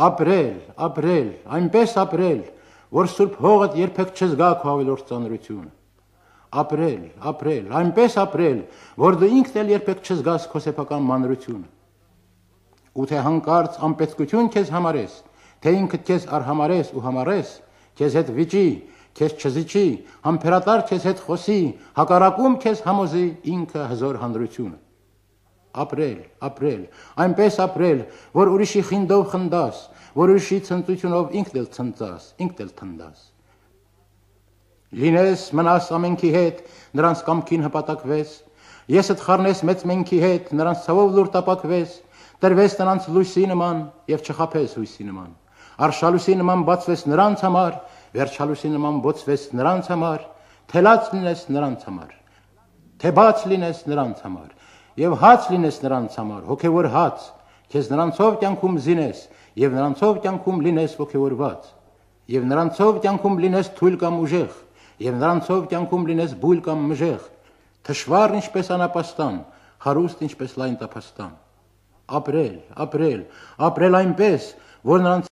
Ապրել, ապրել, այնպես ապրել, որ սուրբ հողդ երբեք չզգա քո ավելորդ ծանրությունը։ Ապրել, ապրել, այնպես ապրել, որ դու ինքդ էլ երբեք չզգաս քո սեփական մանրությունը։ Ու թե հանկարծ անպետքություն քեզ համարես, թե ինքդ քեզ արհամարես ու համարես, քեզ հետ վիճի, քեզ չզիջի, համբերատար քեզ հետ խոսի, հակառակում քեզ համոզի ինքը հզոր հանրությունը։ Ապրել, ապրել, այնպես ապրել, որ ուրիշի խինդով խնդաս, որ ուրիշի ցնծությունով ինքդ էլ ցնծաս, ինքդ էլ թնդաս։ Լինես մնաս ամենքի հետ, նրանց կամքին հպատակվես, եսդ խառնես մեծ մենքի հետ, նրանց ցավով լուր տապակվես, տրվես նրանց լույսի նման եւ չխափես հույսի նման։ Արշալույսի նման բացվես նրանց համար, վերջալույսի նման բոցվես նրանց համար, թելած լինես նրանց համար, թե բաց լինես նրանց համար, եւ հաց լինես նրանց համար, հոգեվոր հաց, քեզ նրանցով կյանքում զինես, եւ նրանցով կյանքում լինես ոգեվորված, եւ նրանցով կյանքում լինես թույլ կամ ուժեղ, եւ նրանցով կյանքում լինես բույլ կամ մժեղ, թշվառ ինչպես անապաստան, հարուստ ինչպես լայն տափաստան։ Ապրել, ապրել, ապրել այնպես, որ նրանց